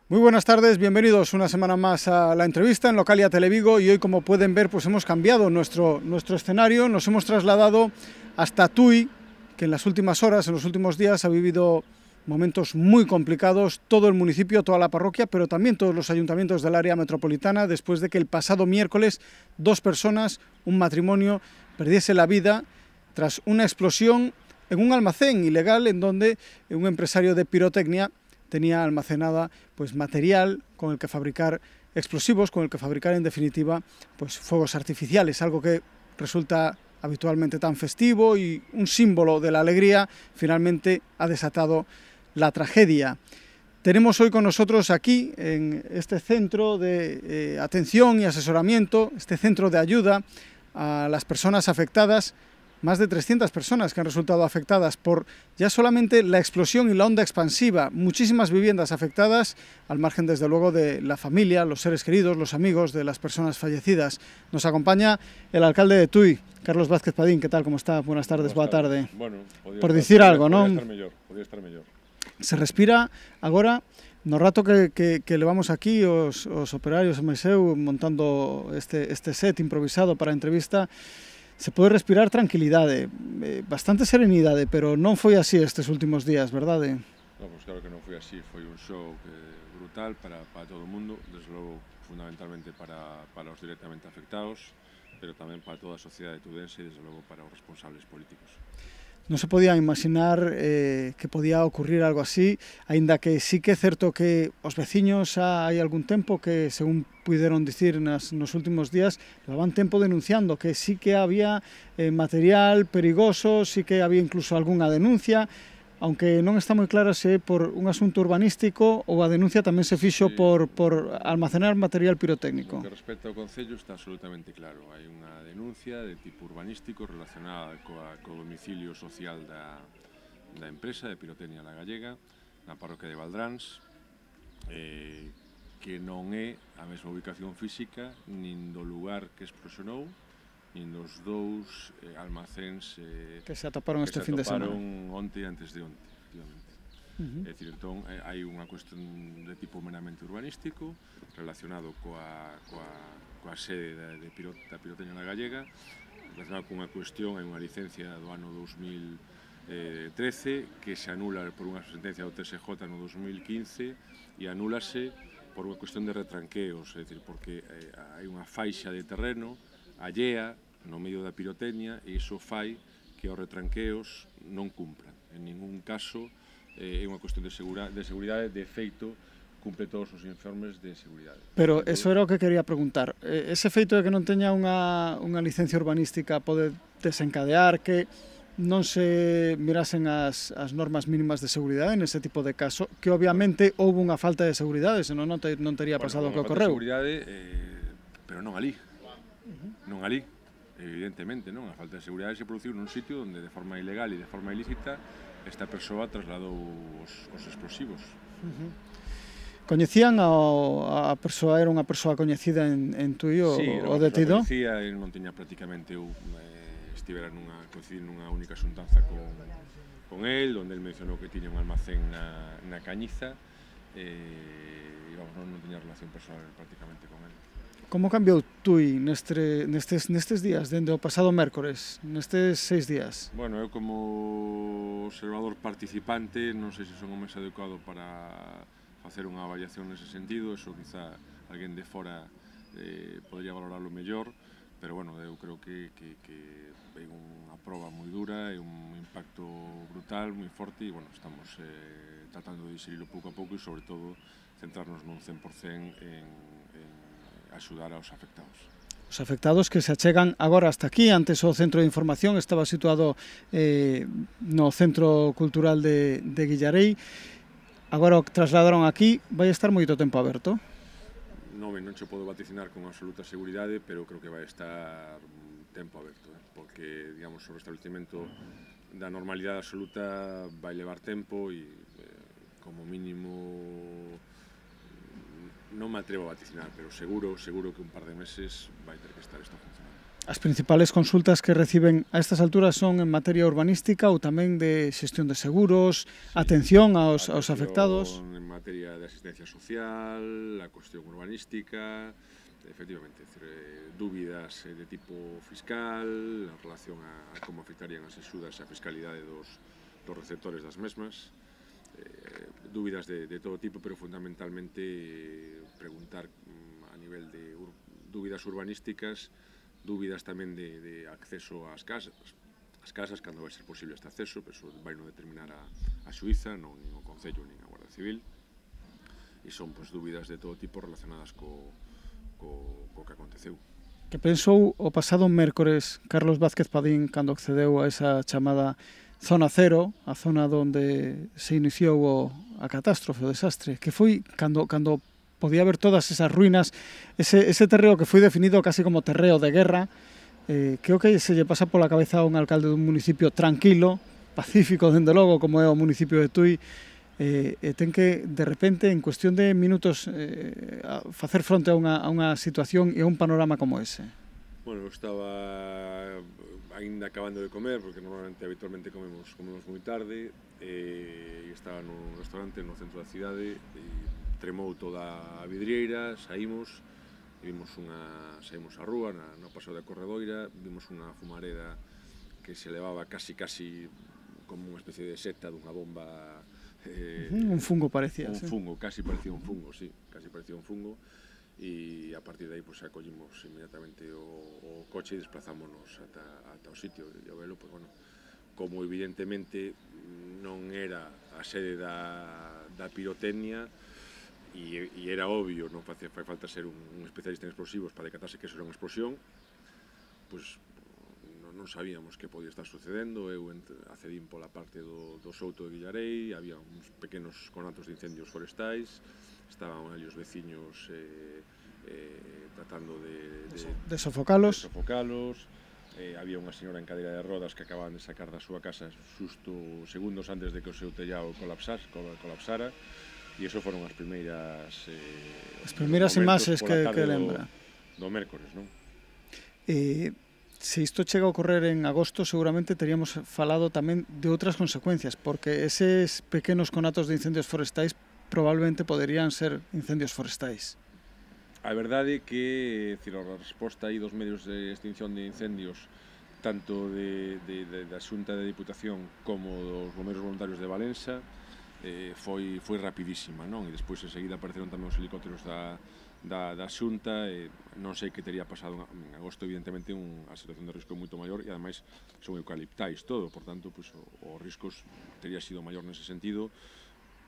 Muy buenas tardes, bienvenidos una semana más a la entrevista en Localia Televigo y hoy, como pueden ver, pues hemos cambiado nuestro escenario, nos hemos trasladado hasta Tui, que en las últimas horas, en los últimos días ha vivido momentos muy complicados, todo el municipio, toda la parroquia, pero también todos los ayuntamientos del área metropolitana, después de que el pasado miércoles 2 personas, un matrimonio, perdiese la vida tras una explosión en un almacén ilegal en donde un empresario de pirotecnia tenía almacenada pues material con el que fabricar explosivos, con el que fabricar en definitiva pues fuegos artificiales, algo que resulta habitualmente tan festivo y un símbolo de la alegría, finalmente ha desatado la tragedia. Tenemos hoy con nosotros aquí, en este centro de atención y asesoramiento, este centro de ayuda a las personas afectadas, más de 300 personas que han resultado afectadas por ya solamente la explosión y la onda expansiva, muchísimas viviendas afectadas, al margen desde luego de la familia, los seres queridos, los amigos de las personas fallecidas. Nos acompaña el alcalde de Tui, Carlos Vázquez Padín. ¿Qué tal? ¿Cómo está? Buenas tardes, boa tarde. Bueno, por dicir algo, ¿no? Podía estar mellor. Se respira agora, no rato que levamos aquí os operarios e Maiseu montando este set improvisado para a entrevista, se pode respirar tranquilidade, bastante serenidade, pero non foi así estes últimos días, verdade? No, pues claro que non foi así, foi un shock brutal para todo o mundo, desde logo fundamentalmente para os directamente afectados, pero tamén para toda a sociedade tudense e desde logo para os responsables políticos. Non se podía imaginar que podía ocurrir algo así, aínda que sí que é certo que os veciños xa hai algún tempo que, según puderon dicir nos últimos días, levaban tempo denunciando que sí que había material perigoso, sí que había incluso algunha denuncia, aunque non está moi clara se por un asunto urbanístico ou a denuncia tamén se fixo por almacenar material pirotécnico. No que respecta ao Concello está absolutamente claro. Hai unha denuncia de tipo urbanístico relacionada co domicilio social da empresa de Pirotecnia La Gallega na parroquia de Valdráns, que non é a mesma ubicación física nin do lugar que explosionou, nin dos dous almacéns que se atoparon este fin de semana. Onte e antes de onte, efectivamente. É dicir, entón, hai unha cuestión de tipo meramente urbanístico relacionado coa sede da Pirotecnia La Gallega, relacionado con unha cuestión, hai unha licencia do ano 2013 que se anula por unha sentencia do TSJ no 2015 e anúlase por unha cuestión de retranqueos, é dicir, porque hai unha faixa de terreno allea no medio da pirotecnia e iso fai que os retranqueos non cumpran. En ningún caso é unha cuestión de seguridade, de feito, cumple todos os informes de seguridade. Pero eso era o que quería preguntar. Ese feito de que non teña unha licencia urbanística pode desencadear que non se mirasen as normas mínimas de seguridade nese tipo de caso, que obviamente houve unha falta de seguridade, senón non tería pasado o que ocorreu. Seguridade, pero non ali. Non ali. Evidentemente, non? A falta de seguridade se produciu nun sitio onde de forma ilegal e de forma ilícita esta persoa trasladou os explosivos. Coñecían a persoa, era unha persoa coñecida en Tui, o detido? Sí, era unha persoa coñecida, ele non tiña prácticamente estivera coincidir nunha única xuntanza con el, onde el mencionou que tiña un almacén na Cañiza e vamos, non tiña relación personal prácticamente con el. Como cambiou Tui nestes días, dende o pasado mércores, nestes 6 días? Bueno, eu como observador participante non sei se son o máis adecuado para facer unha avaliación nese sentido, eso quizá alguén de fora podría valorarlo mellor, pero bueno, eu creo que é unha proba moi dura, é un impacto brutal, moi forte e bueno, estamos tratando de digerirlo pouco a pouco e sobre todo centrarnos nun 100% en axudar aos afectados. Os afectados que se achegan agora hasta aquí, antes o centro de información estaba situado no Centro Cultural de Guillarei, agora o trasladaron aquí, vai estar moito tempo aberto? Non che podo vaticinar con absoluta seguridade, pero creo que vai estar tempo aberto, porque, digamos, o restablecimento da normalidade absoluta vai levar tempo e, como mínimo, non me atrevo a vaticinar, pero seguro que un par de meses vai ter que estar isto funcionando. As principales consultas que reciben a estas alturas son en materia urbanística ou tamén de xestión de seguros, atención aos afectados? En materia de asistencia social, a cuestión urbanística, efectivamente, dúbidas de tipo fiscal en relación a como afectarían as axudas e a fiscalidade dos receptores das mesmas, dúbidas de todo tipo, pero fundamentalmente preguntar a nivel de dúbidas urbanísticas, dúbidas tamén de acceso ás casas, cando vai ser posible este acceso, pero eso vai non determinar a xuíza, non nin o Concello, nin a Guardia Civil, e son dúbidas de todo tipo relacionadas co que aconteceu. Que pensou o pasado mércores Carlos Vázquez Padín cando accedeu a esa chamada zona cero, a zona onde se iniciou a catástrofe, o desastre, que foi cando podía haber todas esas ruínas, ese terreo que foi definido casi como terreo de guerra, que o que se lle pasa pola cabeza a un alcalde dun municipio tranquilo, pacífico, dende logo, como é o municipio de Tui, ten que, de repente, en cuestión de minutos, facer fronte a unha situación e a un panorama como ese? Bueno, eu estaba ainda acabando de comer, porque normalmente, habitualmente, comemos moi tarde, e estaba nun restaurante no centro da cidade, e tremou toda a vidrieira, saímos á rúa, no paseo da Corredoira, vimos unha fumareda que se levaba casi como unha especie de seta dunha bomba. Un fungo parecía. Un fungo, casi parecía un fungo, sí, casi parecía un fungo, e a partir de aí acollimos inmediatamente o coche e desplazámonos ata o sitio, e ao velo, como evidentemente non era a sede da pirotecnia, e era obvio, non fai falta ser un especialista en explosivos para decatarse que eso era unha explosión, pois non sabíamos que podía estar sucedendo. Eu accedín pola parte do Souto de Guillarei, había uns pequenos conatos de incendios forestais, estaban ali os veciños tratando de sofocalos, había unha señora en cadeira de rodas que acababan de sacar da súa casa xusto segundos antes de que o seu tellado colapsara, e iso foron as primeiras imaxes que lembra do mércores, non? Se isto chega a ocorrer en agosto, seguramente teríamos falado tamén de outras consecuencias, porque eses pequenos conatos de incendios forestais probablemente poderían ser incendios forestais. A verdade é que a resposta aí dos medios de extinción de incendios, tanto da Xunta de Diputación como dos bombeiros voluntarios de Valença, foi rapidísima, non? E despois enseguida apareceron tamén os helicópteros da Xunta, non sei que teria pasado en agosto, evidentemente a situación de risco é moito maior, e ademais son eucaliptais todo, por tanto, os riscos teria sido maior nese sentido,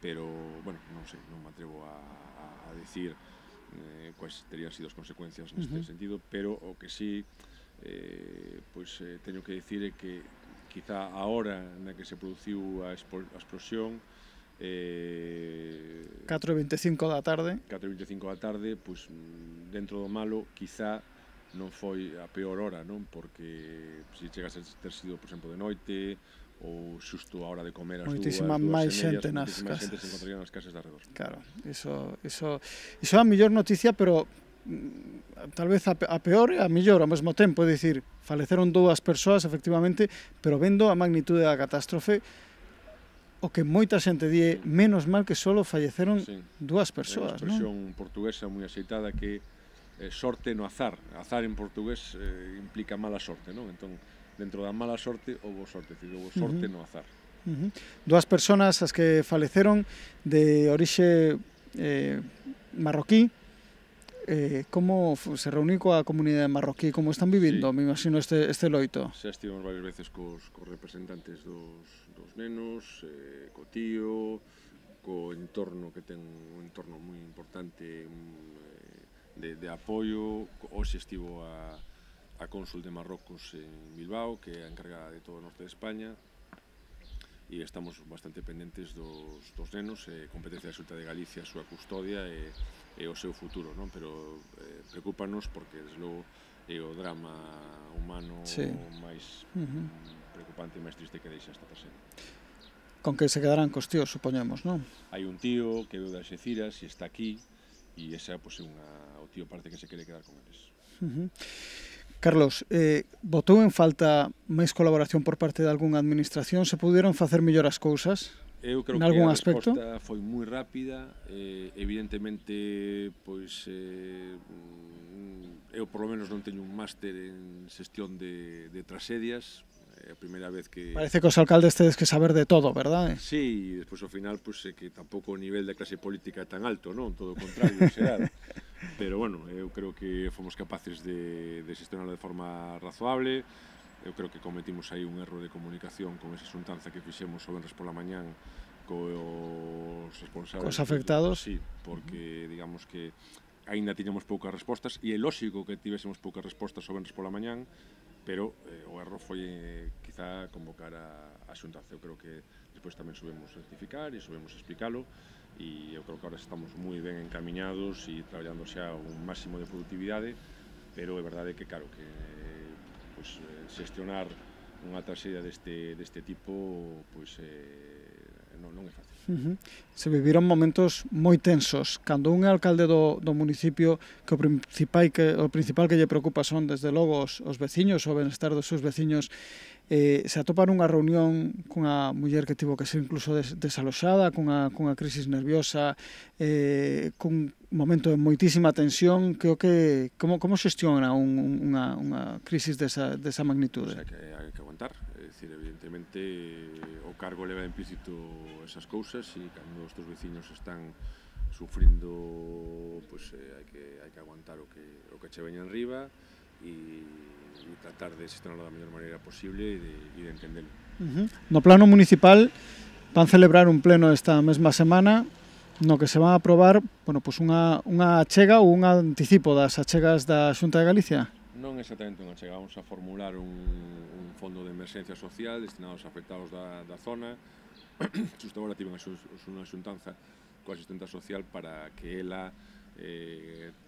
pero, bueno, non sei, non me atrevo a dicir quais terían sido as consecuencias neste sentido, pero o que sí teño que dicir é que quizá a hora na que se produciu a explosión, 4:25 da tarde, dentro do malo, quizá non foi a peor hora, non? Porque se chegas a ter sido, por exemplo, de noite, ou xusto a hora de comer as moitísima máis xente nas casas. Moitísima xente se encontraría nas casas de arredor. Claro, iso é a mellor noticia, pero tal vez a peor e a mellor ao mesmo tempo, é dicir, faleceron 2 persoas, efectivamente, pero vendo a magnitude da catástrofe, o que moita xente di, menos mal que solo falleceron 2 persoas, non? É unha expresión portuguesa moi axeitada que sorte no azar. Azar en portugués implica mala sorte, non? Entón, dentro da mala sorte, houbo sorte, houbo sorte no azar. 2 persoas as que faleceron de orixe marroquí. Como se reuniu coa comunidade marroquí? Como están vivindo, me imagino, este loito? Xa estivemos varias veces cos representantes dos nenos, co tío, co entorno, que ten un entorno moi importante de apoio. Hoxe estivo a cónsul de Marrocos en Bilbao, que é a encargada de todo o norte de España, e estamos bastante pendentes dos nenos, competencia da Xunta de Galicia, a súa custodia e o seu futuro, non? Pero preocúpanos porque, desde logo, é o drama humano máis preocupante e máis triste que deixa esta persona. Con que se quedarán cos tíos, supoñemos, non? Hai un tío que veu de Alxeciras e está aquí, e esa, o tío parece que se quere quedar con eles. Carlos, botou en falta máis colaboración por parte de algunha administración? Se puderon facer mellor as cousas? Eu creo En que algún a aspecto? resposta foi moi rápida, evidentemente, pois, eu por lo menos non teño un máster en xestión de tragedias, é a primeira vez que... Parece que os alcaldes tedes que saber de todo, verdade? Sí, e despois ao final, pois, é que tampouco o nivel de clase política é tan alto, non? Todo o contrario, será. Pero, bueno, eu creo que fomos capaces de xestionarlo de forma razoable. Eu creo que cometimos aí un erro de comunicación con esa xuntanza que fixemos o venres pola mañán cos responsables... Cos afectados. Sí, porque digamos que aínda tiñamos poucas respostas e é lógico que tivésemos poucas respostas o venres pola mañán, pero o erro foi quizá convocar a xuntanza. Eu creo que despois tamén subemos rectificar e subemos explicalo e eu creo que ahora estamos moi ben encaminhados e traballando xa un máximo de productividade, pero é verdade que, claro, que pois, xestionar unha traxedia deste tipo pois, non é fácil. Se viviron momentos moi tensos. Cando un é alcalde do municipio, que o principal que lle preocupa son, desde logo, os veciños, o benestar dos seus veciños, se atopa nunha reunión cunha muller que tivo que ser incluso desaloxada, cunha crisis nerviosa, cun momento de moitísima tensión, como xestiona unha crisis desa magnitude? O sea, que hai que aguantar, é dicir, evidentemente o cargo leva implícito esas cousas e cando os teus veciños están sufrindo, pois hai que aguantar o que che veña enriba e tratar de xestionarlo da mellor maneira posible e de entendelo. No plano municipal van celebrar un pleno esta mesma semana no que se van a aprobar, bueno, pues unha achega ou un anticipo das achegas da Xunta de Galicia. Non exactamente unha achega, vamos a formular un fondo de emerxencia social destinado aos afectados da zona. Xusto agora tive unha xuntanza coa asistenta social para que ela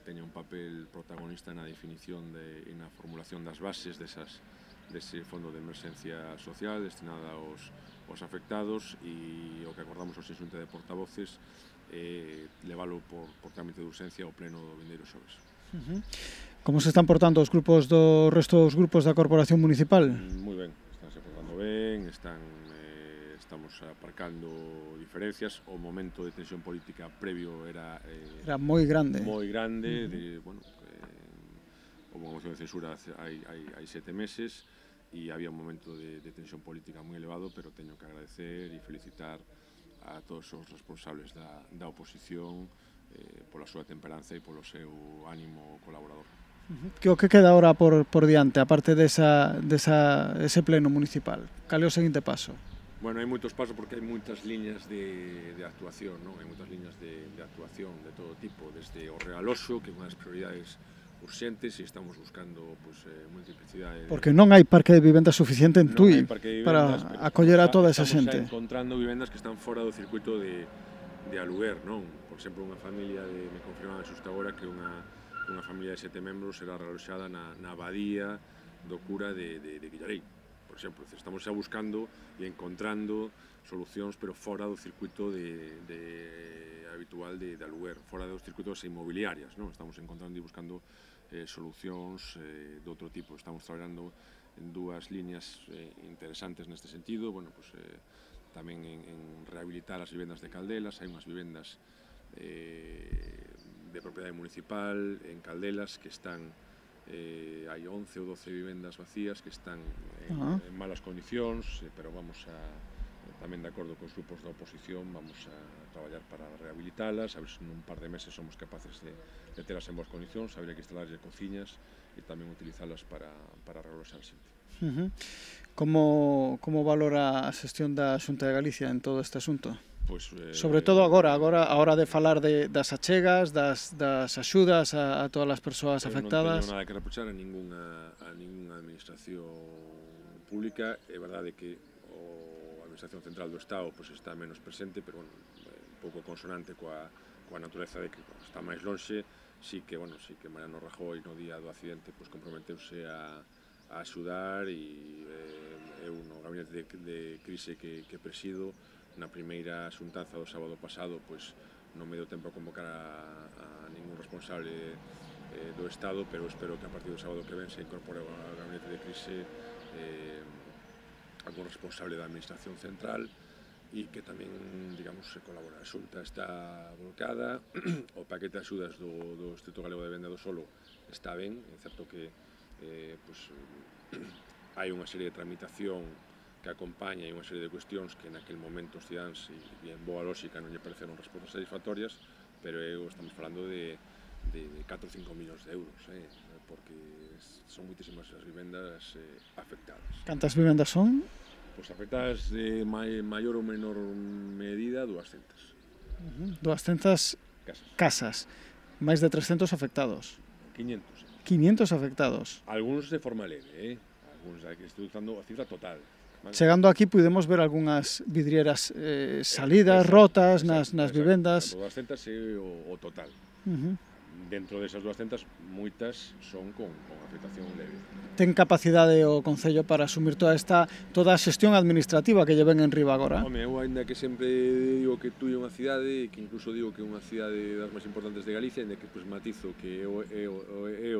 teña un papel protagonista na definición e na formulación das bases dese fondo de emerxencia social destinada aos afectados e o que acordamos hoxe en Xunta de Portavoces leválo por trámite de urxencia ao pleno do vindeiro xoves. Como se están portando os grupos do resto dos grupos da Corporación Municipal? Moi ben, están se portando ben, estamos aparcando diferencias. O momento de tensión política previo era moi grande. Moi grande, bueno, houve unha moción de censura hai 7 meses e había un momento de tensión política moi elevado, pero teño que agradecer e felicitar a todos os responsables da oposición pola súa temperanza e polo seu ánimo colaborador. Que o que queda agora por diante, aparte ese pleno municipal? Cal é o seguinte paso? Bueno, hai moitos pasos porque hai moitas liñas de actuación, non? Hai moitas liñas de actuación de todo tipo, desde o realoxo, que é unha das prioridades urxentes, e estamos buscando multiplicidade. Porque non hai parque de vivendas suficiente en Tui para acoller a toda esa xente. Estamos encontrando vivendas que están fora do circuito de aluguer, non? Por exemplo, unha familia me confirmaban xusto agora que unha familia de 7 membros era realoxada na abadía do cura de Villarei. Por exemplo, estamos xa buscando e encontrando solucións, pero fora do circuito habitual de aluguer, fora dos circuitos inmobiliarias, non? Estamos encontrando e buscando solucións de outro tipo. Estamos traballando en dúas líneas interesantes neste sentido, bueno, pues, tamén en rehabilitar as vivendas de Caldelas. Hai unhas vivendas de propiedade municipal en Caldelas que están hai 11 ou 12 vivendas vacías que están en malas condicións, pero vamos a, tamén de acordo cos grupos da oposición, vamos a traballar para rehabilitalas, a ver se nun par de meses somos capaces de telas en boas condicións. Habría que instalarlle cociñas e tamén utilizalas para realoxar xente. Como valora a xestión da Xunta de Galicia en todo este asunto? Pois, sobre todo agora, a hora de falar das achegas, das axudas a todas as persoas afectadas. Non teño nada que reprochar a ningunha administración pública. É verdade que a administración central do Estado pois, está menos presente, pero bueno, un pouco consonante coa natureza de que está máis lonxe. Sí que Mariano Rajoy no día do accidente pois, comprometeuse a axudar e eu no gabinete de crise que presido na primeira xuntanza do sábado pasado pois non me deu tempo a convocar a ningún responsable do Estado, pero espero que a partir do sábado que ven se incorpore ao gabinete de crise algún responsable da Administración Central e que tamén, digamos, se colabora. A Xunta está volcada, o paquete de axudas do Instituto Galego de Venda do Solo está ben, é certo que hai unha serie de tramitación que acompaña e unha serie de cuestións que naquel momento os cidáns e en boa lógica non lle pareceron respostas satisfactorias, pero estamos falando de 4 ou 5 millóns de euros, porque son moitísimas as vivendas afectadas. Cantas vivendas son? Pois afectadas de maior ou menor medida 200. 200 casas, máis de 300 afectados. 500. 500 afectados. Algúns de forma leve, algúns que estou usando a cifra total. Vale. Chegando aquí podemos ver algunhas vidrieras salidas, rotas nas vivendas. 200 é o total. Dentro desas 200, moitas son con afectación leve. Ten capacidade o Concello para asumir toda a xestión administrativa que lle ven en riba agora? Home, eu ainda que sempre digo que Tui é unha cidade, que incluso digo que é unha cidade das máis importantes de Galicia, ainda que matizo que é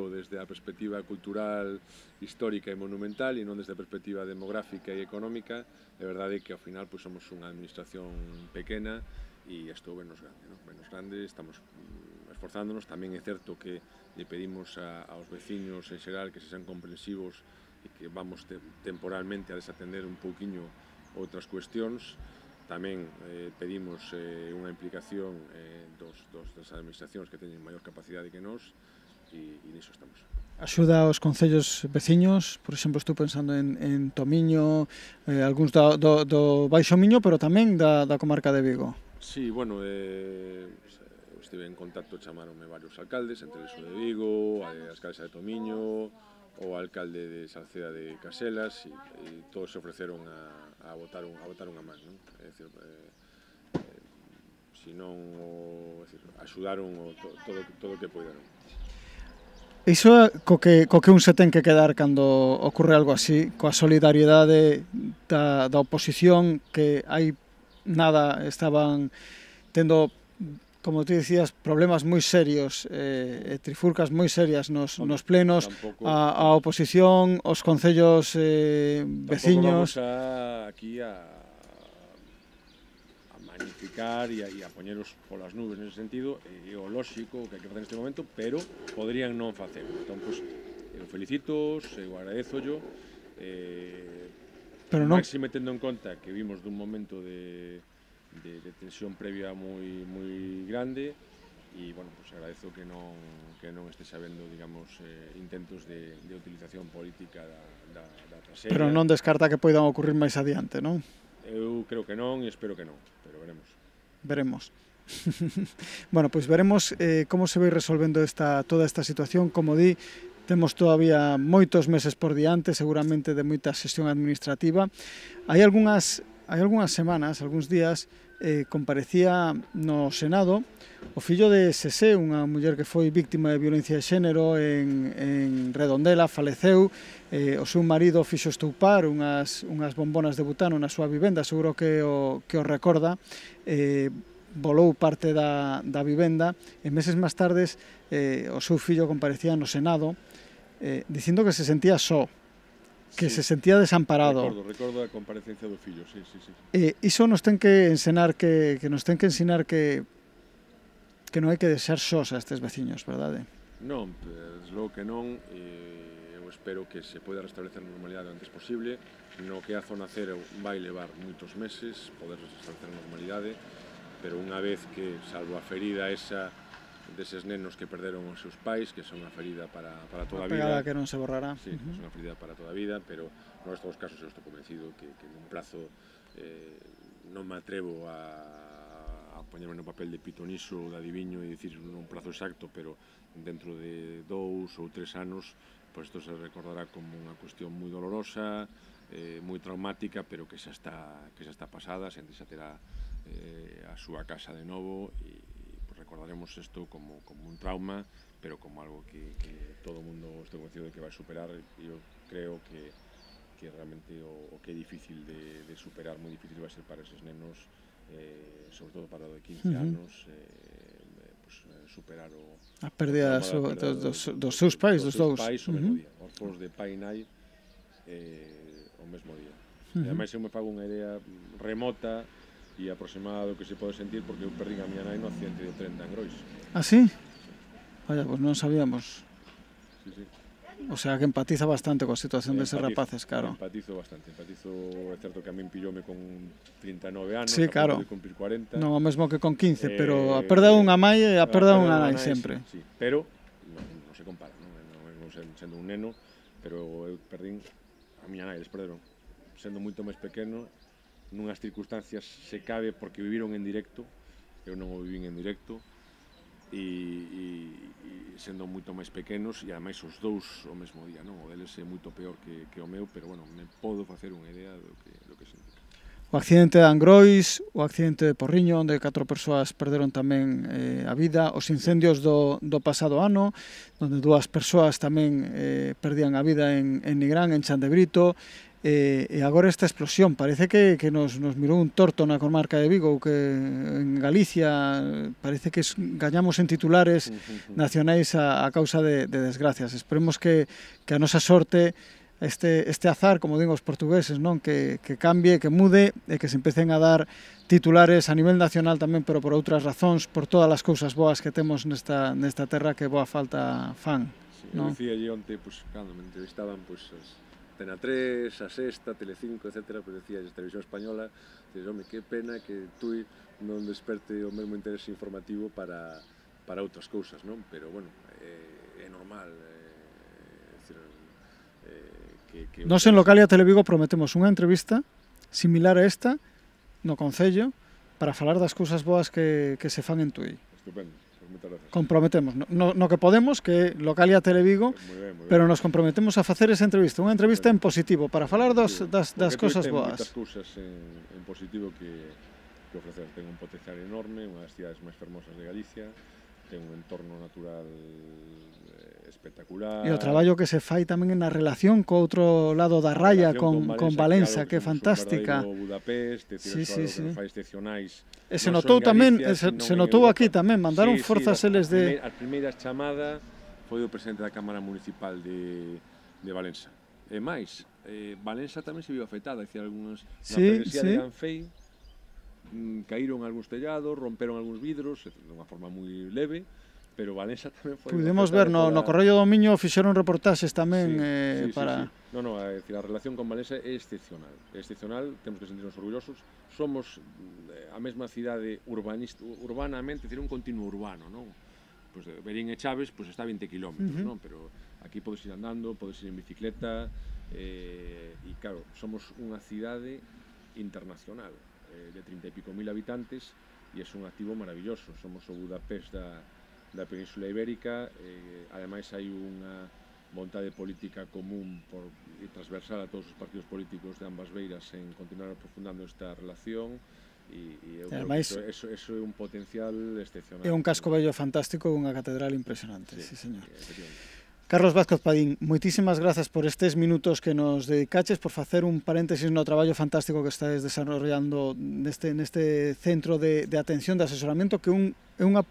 desde a perspectiva cultural, histórica e monumental e non desde a perspectiva demográfica e económica. É verdade que ao final somos unha administración pequena e estou menos grande, estamos esforzándonos. Tamén é certo que lle pedimos aos veciños en xeral que se sean comprensivos e que vamos temporalmente a desatender un pouquiño outras cuestións. Tamén pedimos unha implicación das administracións que teñen maior capacidade que nós e niso estamos. Axuda aos concellos veciños, por exemplo, estou pensando en Tomiño, algúns do Baixo Miño, pero tamén da comarca de Vigo. Sí, bueno, estive en contacto, chamaronme varios alcaldes, entre eles o de Vigo, a alcaldesa de Tomiño, o alcalde de Salceda de Caselas, e todos se ofreceron a botar unha man, non? É dicir, axudaron todo o que poideron. Iso é co que un se ten que quedar cando ocorre algo así, coa solidariedade da oposición, que hai nada estaban tendo, como tú dicías, problemas moi serios, trifurcas moi serias nos plenos, a oposición, os concellos veciños. Tampouco vamos aquí a magnificar e a poñeros polas nubes nese sentido, é o lóxico que hai que facer neste momento, pero podrían non facelo. Entón, eu felicito, eu agradezollo, máxime tendo en conta que vimos dun momento de tensión previa moi grande e, bueno, agradezo que non estés habendo, digamos, intentos de utilización política da traxedia. Pero non descarta que poidan ocurrir máis adiante, non? Eu creo que non e espero que non, pero veremos. Veremos. Bueno, pois veremos como se vai resolvendo toda esta situación. Como di, temos todavía moitos meses por diante, seguramente de moita xestión administrativa. Hai algunhas semanas, algúns días, comparecía no Senado o fillo de Sesé, unha muller que foi víctima de violencia de xénero en Redondela, faleceu. O seu marido fixo estoupar unhas bombonas de butano na súa vivenda, seguro que o recorda. Volou parte da vivenda e meses máis tardes o seu fillo comparecía no Senado dicindo que se sentía só, que se sentía desamparado. Recordo a comparecencia do fillo, sí. Iso nos ten que ensinar que non hai que deixar sós a estes veciños, verdade? Non, desde logo que non. Eu espero que se poida restablecer a normalidade o antes posible. No que a zona cero vai levar moitos meses poder restablecer a normalidade, pero unha vez que, salvo a ferida esa deses nenos que perderon os seus pais, que son unha ferida para toda a vida. Unha pegada que non se borrará. Sí, son unha ferida para toda a vida, pero no resto dos casos eu estou convencido que nun plazo non me atrevo a poñerme no papel de pitoniso ou de adiviño e dicir un prazo exacto, pero dentro de 2 ou 3 anos, pois isto se recordará como unha cuestión moi dolorosa, moi traumática, pero que xa está pasada, a xente xa terá a súa casa de novo e recordaremos isto como un trauma, pero como algo que todo o mundo estou convencido de que vai superar. E eu creo que realmente o que é difícil de superar, moi difícil vai ser para eses nenos, sobre todo para o de 15 anos, superar a pérdida dos seus pais, dos dous. O mesmo día, orfos de pai e nai o mesmo día. E ademais eu me fago unha idea remota e aproximada do que se pode sentir, porque eu perdín a miña nai no accidente de tren de Angrois. Ah, sí? Vaya, pois non sabíamos. Sí, sí. O sea, que empatiza bastante coa situación deses rapaces, claro. Empatizo bastante, é certo que a min pilloume con 39 anos, sí, claro. De cumplir 40. Non o mesmo que con 15, pero a perda unha mai e a perda unha nai sempre. Sí, pero non se compara, non sendo un neno, pero eu perdín a miña nai, eles perderon sendo moito máis pequeno, nunhas circunstancias se cabe porque viviron en directo, eu non o vivín en directo, e sendo moito máis pequenos, e ademais os dous o mesmo día, non? O deles é moito peor que o meu, pero bueno, me podo facer unha idea do que significa. O accidente de Angrois, o accidente de Porriño, onde 4 persoas perderon tamén a vida, os incendios do pasado ano, onde 2 persoas tamén perdían a vida en Nigrán, en Chandebrito, e agora esta explosión, parece que nos mirou un torto na comarca de Vigo, que en Galicia parece que gañamos en titulares nacionais a causa de desgracias. Esperemos que a nosa sorte, este azar, como digo os portugueses, non, que cambie, que mude e que se empecen a dar titulares a nivel nacional tamén, pero por outras razóns, por todas as cousas boas que temos nesta terra que boa falta fan. Sí, eu dicía allí onte, cando me entrevistaban, Antena 3, a Sexta, Telecinco, etc., pues decía a Televisión Española, dices, home, que pena que Tui non desperte o mesmo interés informativo para outras cousas, non? Pero, bueno, é normal, Nos en Localia Televigo prometemos unha entrevista similar a esta no Concello para falar das cousas boas que se fan en Tui. Estupendo. Comprometemos, no que podemos, que Localia Televigo, pero nos comprometemos a facer esa entrevista, unha entrevista en positivo, para falar das cousas boas. Porque ten moitas cousas en positivo que ofrecer. Ten un potencial enorme, unha das cidades máis fermosas de Galicia, ten un entorno natural espectacular. E o traballo que se fai tamén na relación co outro lado da raya, con Valença, que é fantástica. Budapest, sí. Fai excepcionais. E se notou tamén, se notou aquí tamén, mandaron forzas eles de... A primeira chamada foi o presidente da Cámara Municipal de Valença. E máis, Valença tamén se viu afectada, dicir, algunhas na travesía de Ganfei, caíron algúns tellados, romperon algúns vidros, de unha forma moi leve, pero Valença tamén foi... Pudemos ver no Corrello do Miño, fixeron reportaxes tamén para... Non, a relación con Valença é excepcional. É excepcional, temos que sentirnos orgullosos. Somos a mesma cidade urbanamente, é dicir, un continuo urbano, non? Pois Verín e Chaves está a 20 kilómetros, non? Pero aquí podes ir andando, podes ir en bicicleta, e claro, somos unha cidade internacional, de 30 e pico mil habitantes, e é un activo maravilloso. Somos o Budapest da Península Ibérica, ademais hai unha vontade política común e transversal a todos os partidos políticos de ambas beiras en continuar aprofundando esta relación, e eu creo que eso é un potencial excepcional. É un casco bello fantástico e unha catedral impresionante, sí, señor. Carlos Vázquez Padín, moitísimas grazas por estes minutos que nos dedicaches, por facer un paréntesis no traballo fantástico que estáis desarrollando neste centro de atención, de asesoramento, que é unha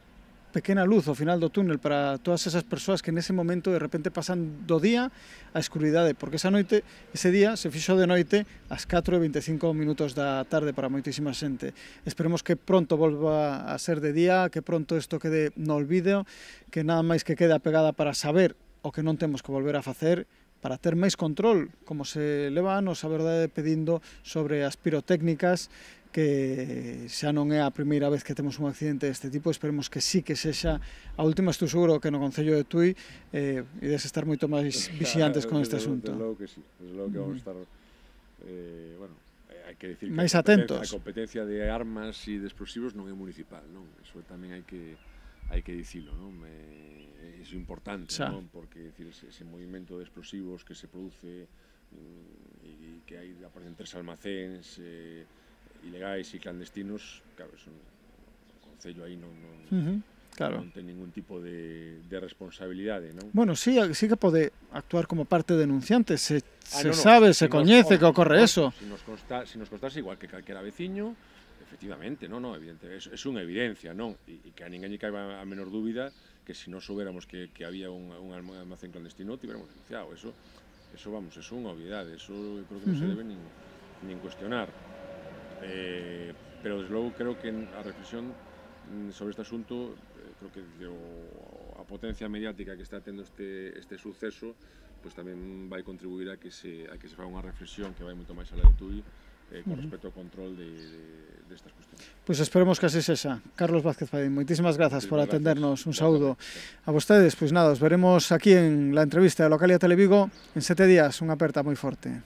pequena luz ao final do túnel para todas esas persoas que nese momento de repente pasan do día á escuridade, porque ese día se fixo de noite ás 4:25 da tarde para moitísima xente. Esperemos que pronto volva a ser de día, que pronto isto quede no olvido, que nada máis que quede apegada para saber o que non temos que volver a facer, para ter máis control, como se leva anos, a verdade, pedindo sobre as pirotécnicas, que xa non é a primeira vez que temos un accidente deste tipo. Esperemos que sí que sexa a última. Estou seguro que no Concello de Tui ides estar moito máis vixiantes con este asunto. Desde logo que sí, desde logo que vamos a estar hai que decir máis atentos. A competencia de armas e de explosivos non é municipal, non? Eso tamén hai que dicilo, non? É importante, non? Porque ese movimento de explosivos que se produce e que hai aparecen 3 almacéns ilegais e clandestinos, claro, o Concello aí non ten ningún tipo de responsabilidade, non? Bueno, sí que pode actuar como parte denunciante, se sabe, se coñece que ocorre eso. Se nos constase igual que calquera veciño, Efectivamente, non, evidente, é unha evidencia, non? E que a ninguén lle caiba a menor dúbida que se non soubéramos que había un almacén clandestino, tiveramos denunciado. Eso, vamos, é unha obviedade, eso eu creo que non se debe nin cuestionar. Pero, desde logo, creo que a reflexión sobre este asunto, creo que a potencia mediática que está tendo este suceso, pois tamén vai contribuir a que se faga unha reflexión que vai moito máis alá de TUI con respecto ao control destas cuestiones. Pois esperemos que así sexa. Carlos Vázquez Padín, moitísimas grazas por atendernos, un saúdo a vostedes. Pois nada, os veremos aquí en la entrevista de Localia Televigo en 7 días, unha aperta moi forte.